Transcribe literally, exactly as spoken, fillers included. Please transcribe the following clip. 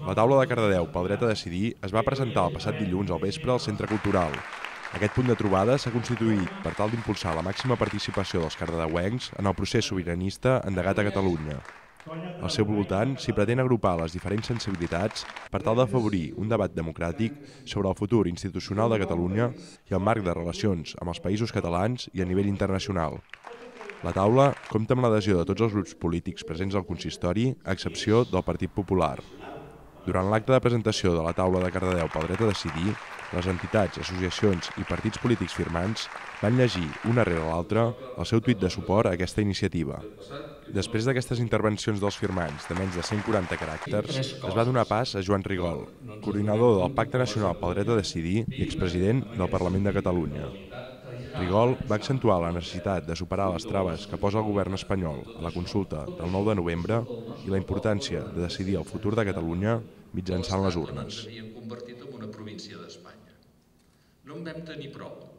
La taula de Cardedeu pel dret a decidir es va presentar el passat dilluns al vespre al Centre Cultural. Aquest punt de trobada s'ha constituït per tal d'impulsar la màxima participació dels cardedeuencs en el procés sobiranista endegat a Catalunya. Al seu voltant s'hi pretén agrupar les diferents sensibilitats per tal d'afavorir un debat democràtic sobre el futur institucional de Catalunya i el marc de relacions amb els països catalans i a nivell internacional. La taula compta amb l'adhesió de tots els grups polítics presents al consistori, a excepció del Partit Popular. Durant l'acte de presentació de la taula de Cardedeu pel dret a decidir, les entitats, associacions i partits polítics firmants van llegir, una rere l'altra, el seu tuit de suport a aquesta iniciativa. Després d'aquestes intervencions dels firmants de menys de cent quaranta caràcters, es va donar pas a Joan Rigol, coordinador del Pacte Nacional pel Dret a Decidir i expresident del Parlament de Catalunya. Rigol va accentuar la necessitat de superar les traves que posa el govern espanyol a la consulta del nou de novembre i la importància de decidir el futur de Catalunya mitjançant les urnes. No en vam tenir prou.